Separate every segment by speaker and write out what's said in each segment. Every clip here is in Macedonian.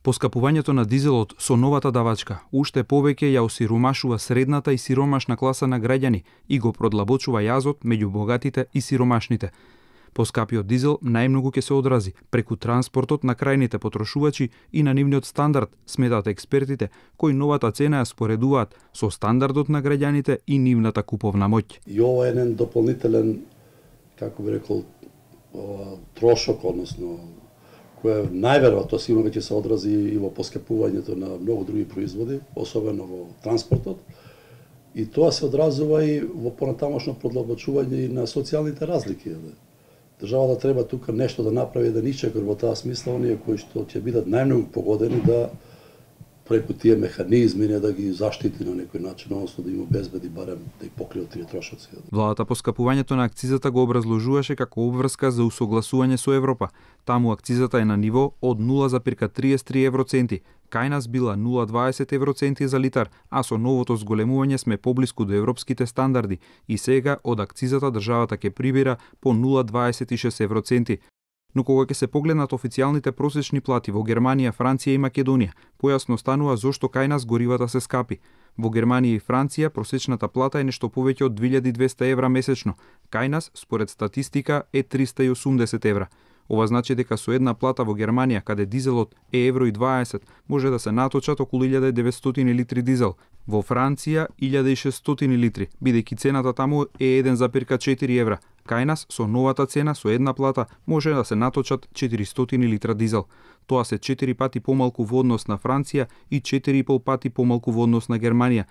Speaker 1: Поскапувањето на дизелот со новата давачка уште повеќе ја осиромашува средната и сиромашна класа на граѓани и го продлабочува јазот меѓу богатите и сиромашните. Поскапиот дизел најмногу ќе се одрази преку транспортот на крајните потрошувачи и на нивниот стандард, сметаат експертите, кои новата цена ја споредуваат со стандардот на граѓаните и нивната куповна моќ.
Speaker 2: И ова е еден дополнителен, како би рекол, трошок, односно кој најверојатно сигурно ќе се одрази и во поскапувањето на многу други производи, особено во транспортот. И тоа се одразува и во понатамошно продлабочување и на социјалните разлики. Државата треба тука нешто да направи, да исчекор во таа смисла оние кои што ќе бидат најмногу погодени да преку тие механизми не да ги заштити на некој начин, односно да им обезбеди барем да ги покријат тие трошоци.
Speaker 1: Владата поскапувањето на акцизата го образложуваше како обврска за усогласување со Европа. Таму акцизата е на ниво од 0,33 евроценти. Кај нас била 0,20 евроценти за литар, а со новото зголемување сме поблиску до европските стандарди и сега од акцизата државата ќе прибира по 0,26 евроценти. Но кога ќе се погледнат официјалните просечни плати во Германија, Франција и Македонија, појасно станува зошто кај нас горивата се скапи. Во Германија и Франција просечната плата е нешто повеќе од 2200 евра месечно. Кај нас, според статистика, е 380 евра. Ова значи дека со една плата во Германија, каде дизелот е евро и 20, може да се наточат околу 1900 литри дизел. Во Франција 1600 литри, бидејќи цената таму е 1,4 евра. Кај нас, со новата цена, со една плата, може да се наточат 400 литра дизел. Тоа се 4 пати помалку во однос на Франција и 4,5 пати помалку во однос на Германија.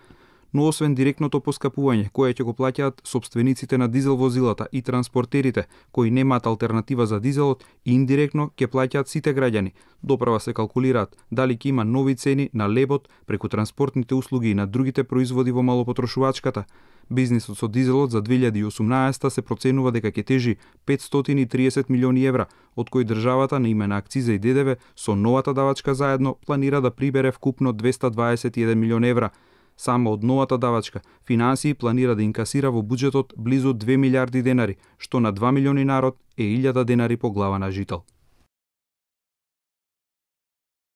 Speaker 1: Но освен директното поскапување, кое ќе го плаќаат сопствениците на дизел возилата и транспортерите, кои немаат алтернатива за дизелот, индиректно ќе плаќаат сите граѓани. Доправа се калкулираат дали ќе има нови цени на лебот преку транспортните услуги и на другите производи во малопотрошувачката. Бизнисот со дизелот за 2018 се проценува дека ќе тежи 530 милиони евра, од кои државата на име на акциза и ДДВ со новата давачка заедно планира да прибере вкупно 221 милион евра. Само од новата давачка, финансии планира да инкасира во буџетот близу 2 милиарди денари, што на 2 милиони народ е 1000 денари по глава на жител.